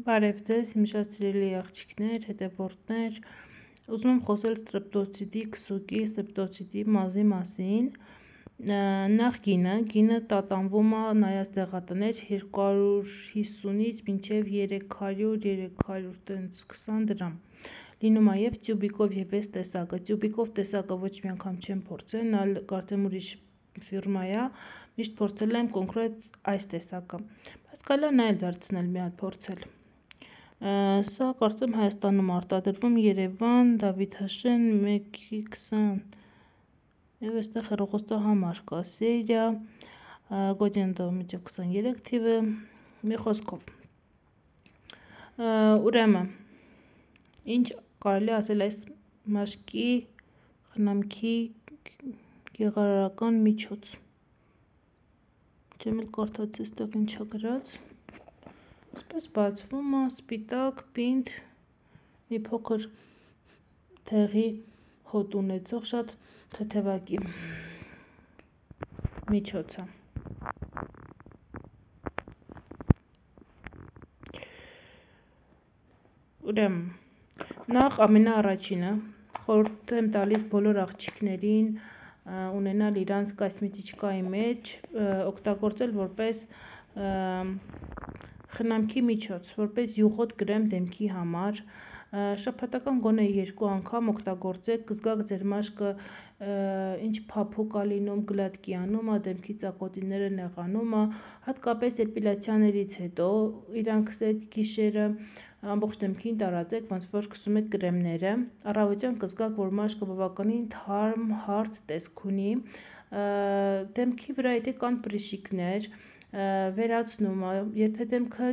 Բարև ձեզ, իմ շատ սիրելի աղջիկներ, հետևորդներ, ուզում եմ խոսել ստրեպտոցիտի քսուկի, ստրեպտոցիտի մազի մասին, նախ գինը տատանվում է նայած դեղատներ 250-ից մինչև 300-320 դրամ, լինում է և տյուբիկով և այս տեսակը, տյուբիկով տեսակը ոչ մի անգամ չեմ փորձել, նա կարծեմ ուրիշ ֆիրմա է, միշտ փորձել եմ կոնկրետ այս տեսակը, բայց կարելի է նա էլ վերցնել մի հատ փորձել։ Սա կարծեմ Հայաստանում արտադրվում Երևան, Դավիթաշեն 1:20 և այստեղ հեռախոսահամար կա, Սերիա, Գոդիենդո 1:23 թիվը, մի խոսքով։ Ուրեմն, ինչ կարելի ասել այս մաշկի խնամքի գեղարարական միջոց։ Չեմ էլ կարդացի այստեղ ինչա գրած։ Այսպես բացվում է, սպիտակ, պինդ, մի փոքր դեղի հոտ ունեցող, շատ թեթևակի միջոց է։ Ուրեմն, նախ ամենաառաջինը խորհուրդ եմ տալիս բոլոր աղջիկներին ունենալ իրանց կոսմետիկայի մեջ, օգտագործել որպես խնամքի միջոց, որպես յուղոտ կրեմ դեմքի համար, շաբաթական գոնե 2 անգամ օգտագործեք, կզգաք ձեր մաշկը ինչ փափուկ է լինում, գլատկի անում է, դեմքի ծակոտիները նեղանում է, հատկապես էպիլյացիաներից հետո իրան քսեք գիշերը, ամբողջ դեմքին տարածեք, ոնց որ քսում եք կրեմները, առավոտյան կզգաք, որ մաշկը բավականին թարմ, հարթ տեսք ունի, դեմքի վրա եթե կան պրիշիկներ, վերացնում է, եթե դեմքը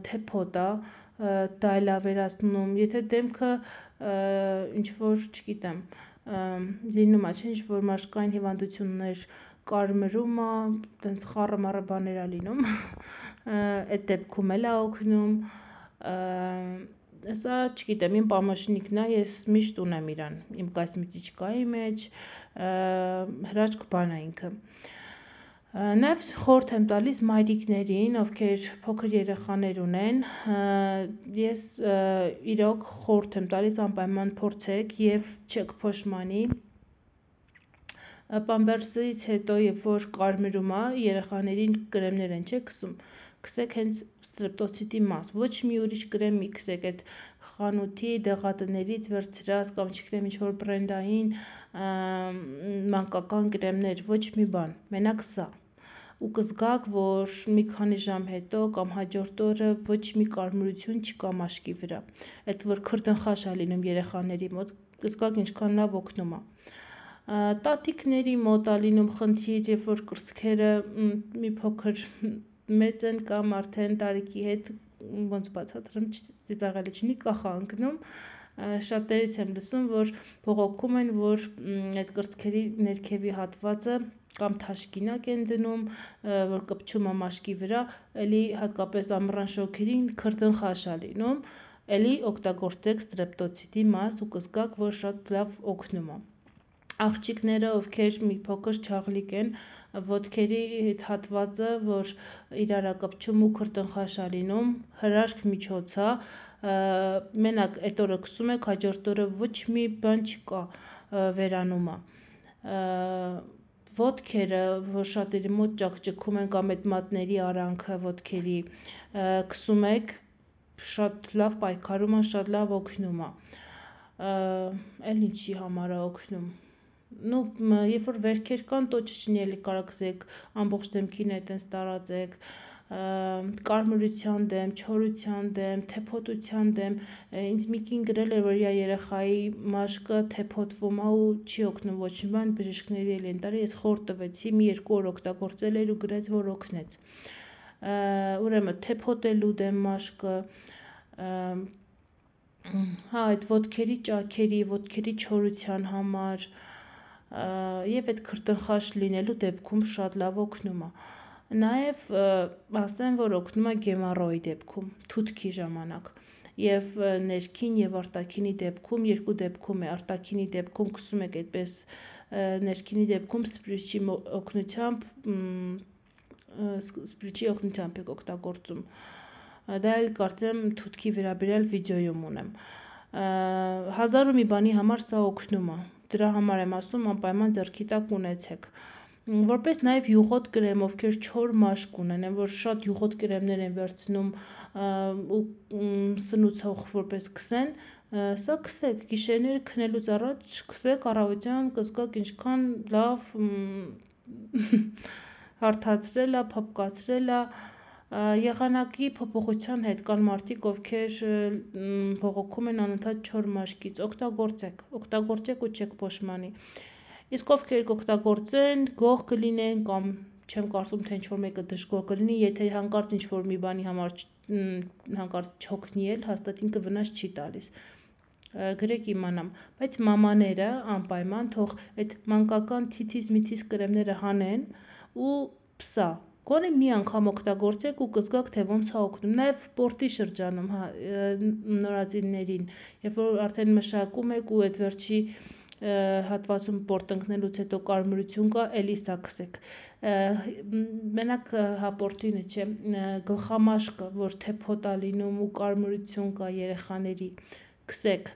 թեփոտ է, դա էլ է վերացնում, եթե դեմքը ինչ-որ, չգիտեմ, լինում է, ինչ որ մաշկային հիվանդություններ, կարմրում է, տենց խառը բաներ է լինում, այդ դեպքում էլ է օգնում, սա չգիտեմ, իմ պամաշնիկն է, ես միշտ ունեմ իրան, իմ կոսմետիկայի մեջ, հրաշք բան է ինքը։ Նաև խորհուրդ եմ տալիս մայրիկներին, ովքեր փոքր երեխաներ ունեն, ես իրոք խորհուրդ եմ տալիս անպայման փորձեք և չեք փոշմանի, պամպերսից հետո, երբ որ կարմրում է, երեխաներին կրեմներ են քսում, քսեք հենց ստրեպտոցիտի մազ, ոչ մի ուրիշ կրեմ մի քսեք, այդ խանութի դեղատներից վերցրած կամ չգիտեմ ինչ-որ բրենդային մանկական կրեմներ, ոչ մի բան, մենակ սա, ու կզգաք, որ մի քանի ժամ հետո կամ հաջորդ օրը ոչ մի կարմրություն չկա մաշկի վրա, այդ որ քրդնխաշ է լինում երեխաների մոտ, կզգաք ինչքան լավ օգնում է։ Տատիկների մոտ է լինում խնդիր, երբ որ կրծքերը մի փոքր մեծ են կամ արդեն տարիքի հետ, ոնց բացատրեմ, ծիծաղելի չլինի, կախ է ընկնում, շատերից եմ լսում, որ բողոքում են, որ այդ կրծքերի ներքևի հատվածը կամ թաշկինակ են դնում, որ կպչում է մաշկի վրա, էլի հատկապես ամռան շոգերին քրդնխաշ է լինում, էլի օգտագործեք ստրեպտոցիտի մազ ու կզգաք, որ շատ լավ օգնում է։ Աղջիկները, ովքեր մի փոքր չաղլիկ են, ոտքերի հատվածը, որ իրար է կպչում ու քրդնխաշ է լինում, հրաշք միջոց է, մենակ այդ օրը քսում եք, հաջորդ օրը ոչ մի բան չկա, վերանում է։ Ոտքերը, որ շատերի մոտ ճաքճքում են կամ այդ մատների արանքը ոտքերի, քսում եք, շատ լավ պայքարում է, շատ լավ օգնում է, էլ ինչի համար է օգնում, երբ որ վերքեր կան, տոճիչնի էլի կարակզեք, ամբողջ դեմքին է տենց տարածեք, կարմրության դեմ, չորության դեմ, թեփոտության դեմ, ինձ մի կին գրել էր, որ իր երեխայի մաշկը թեփոտվում է ու չի օգնում ոչ մի բան, բժիշկների էլ են տարի, ես խորհուրդ տվեցի, մի 2 օր օգտագործել էր ու գրեց, որ օգնեց։ Ուրեմն թեփոտելու դեմ մաշկը, այդ ոտքերի ճաքերի, ոտքերի չորության համար և այդ քրդնխաշ լինելու դեպքում շատ լավ օգնում է։ Նաև ասեմ, որ օգնում է գեմառոյի դեպքում, թութքի ժամանակ և ներքին և արտաքինի դեպքում, երկու դեպքում է, արտաքինի դեպքում քսում եք այդպես, ներքինի դեպքում սպրիչի օգնությամբ եք օգտագործում, դա էլ կարծեմ թութքի վերաբերյալ վիդեոյում ունեմ։ 1000 ու մի բանի համար սա օգնում է, դրա համար եմ ասում անպայման ձեռքի տակ ունեցեք։ Որպես նաև յուղոտ կրեմ, ովքեր չոր մաշկ ունեն, որ շատ յուղոտ կրեմներ են վերցնում ու սնուցող որպես քսեն, սա քսեք, գիշերները քնելուց առաջ քսեք, առավոտյան կզգաք ինչքան լավ հարթացրել է, փափկացրել է, եղանակի փոփոխության հետ կան մարդիկ, ովքեր բողոքում են անընդհատ չոր մաշկից, օգտագործեք ու չեք փոշմանի։ Իսկ ովքեր կօգտագործեն, գող կլինեն կամ չեմ կարծում, թե ինչ-որ մեկը դժգոհ կլինի, եթե հանկարծ ինչ-որ մի բանի համար հանկարծ չօգնի էլ, հաստատ ինքը վնաս չի տալիս։ Գրեք իմանամ, բայց մամաները անպայման թող այդ մանկական թիթիզ-միթիզ կրեմները հանեն ու սա գոնե մի անգամ օգտագործեք ու կզգաք, թե ոնց է օգնում։ Նաև սպորտի շրջանում, նորածիններին, երբ որ արդեն մշակում եք ու այդ վերջի հատվածում պորտ ընկնելուց հետո կարմրություն կա, էլի սա քսեք։ Մենակ հապորտինը չէ, գլխամաշկը, որ թեփոտ է լինում ու կարմրություն կա երեխաների, քսեք,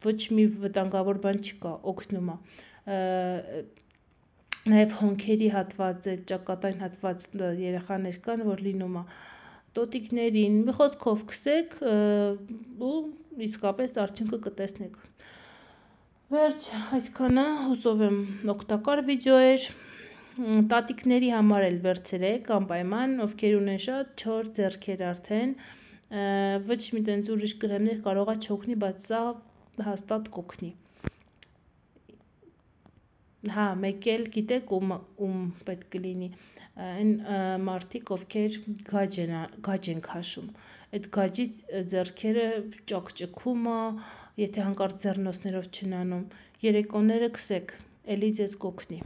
ոչ մի վտանգավոր բան չկա, օգնում է։ Նաև հոնքերի հատված, ճակատային հատված երեխաներ կան, որ լինում է տոտիկներին, մի խոսքով քսեք ու իսկապես արդյունքը կտեսնեք։ Վերջ, այսքանը, հուսով եմ օգտակար վիդեո էր, տատիկների համար էլ վերցրեք, անպայման, ովքեր ունեն շատ չոր ձեռքեր արդեն, ոչ մի տենց ուրիշ կրեմներ կարող է չօգնի, բայց սա հաստատ կօգնի։ Հա, մեկ էլ գիտեք ում պետք կլինի, այն մարդիկ, ովքեր գաջ են քաշում, այդ գաջի ձեռքերը ճաքճքում է, եթե հանկարծ ձեռնոցներով չնանում, երեկոները քսեք, էլի ձեզ կօգնի։